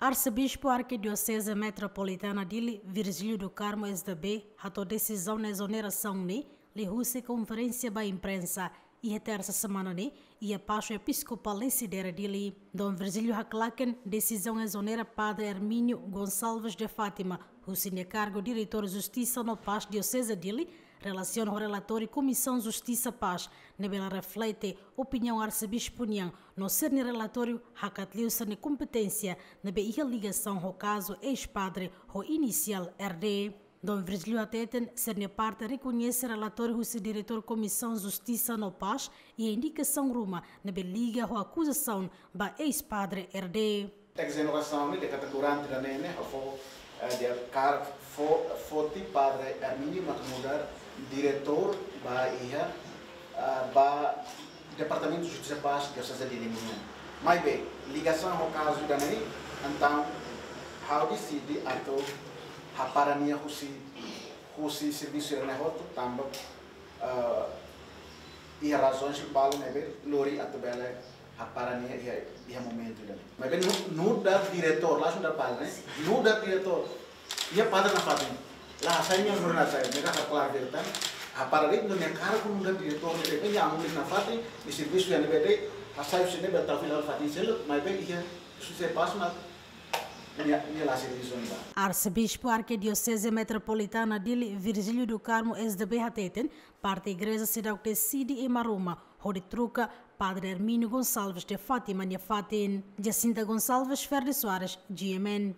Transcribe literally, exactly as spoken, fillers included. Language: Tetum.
Arsebispu Arkidioseze Metropolitana Dili, Virgílio do Carmo S D B, hato'o desizaun ezonerasaun ne'e liuhusi konferénsia ba imprensa iha tersa semana ne'e iha Paxu Episkopál Lecidere Dili. Dom Virgílio haklaken desizaun ezonera Padre Hermínio Gonçalves de Fátima husi nia kargu Diretór Justisa no Pás Dioseze Dili, relasiona ho relatóriu Komisaun Justisa Pás, ne'ebé la reflete opiniaun arsebispu nian, no sira-nia relatóriu hakat liu sira-nia kompeténsia ne'ebé iha ligasaun ho kazu eis-padre ho inisiál R D. Dom Virgílio hateten, sira-nia parte rekoñese relatóriu husi Diretór Komisaun Justisa no Pás iha indikasaun ruma ne'ebé liga ho akuzasaun ba eis-padre R D. Ezonerasaun ne'e, de katak durante ida-ne'e ne'e, fó, eh, de kar, fó, foti Padre Hermínio mak nu'udar diretór ba iha, eh, ba Departamentu Justisa Pás Dioseze Dili nian. Maibé, ligasaun ho kazu ida-ne'e, entaun, ha'u deside atu hapara nia husi, husi servisu ida-ne'e hotu, tanba, eh, iha razaun balu ne'ebé lori atu bele hapara nia iha, iha momentu ida-ne'e. Maibé nu, nu'udar diretór, langsung nu'udar padre, nu'udar diretór. Iha padre nafatin. La hasai nia nu'udar nafatin, ne'e hakarak klaru de'it tan. Hapara de'it nia kargu nu'udar diretór ne'ebé iha amu nafatin, nia servisu iha ne'ebé de'it, hasai husi ne'ebé tau fila fatin seluk, maibé iha Justisa Pás mak nia, nia la servisu ne'ebá. Arsebispu Arkidioseze Metropolitana Dili, Virgílio do Carmo S D B hateten, parte igreja seidauk deside ema ruma hodi troka Padre Hermínio Gonçalves de Fátima nia fatin. Jacinta Gonçalves, Ferdi Soares, G M N.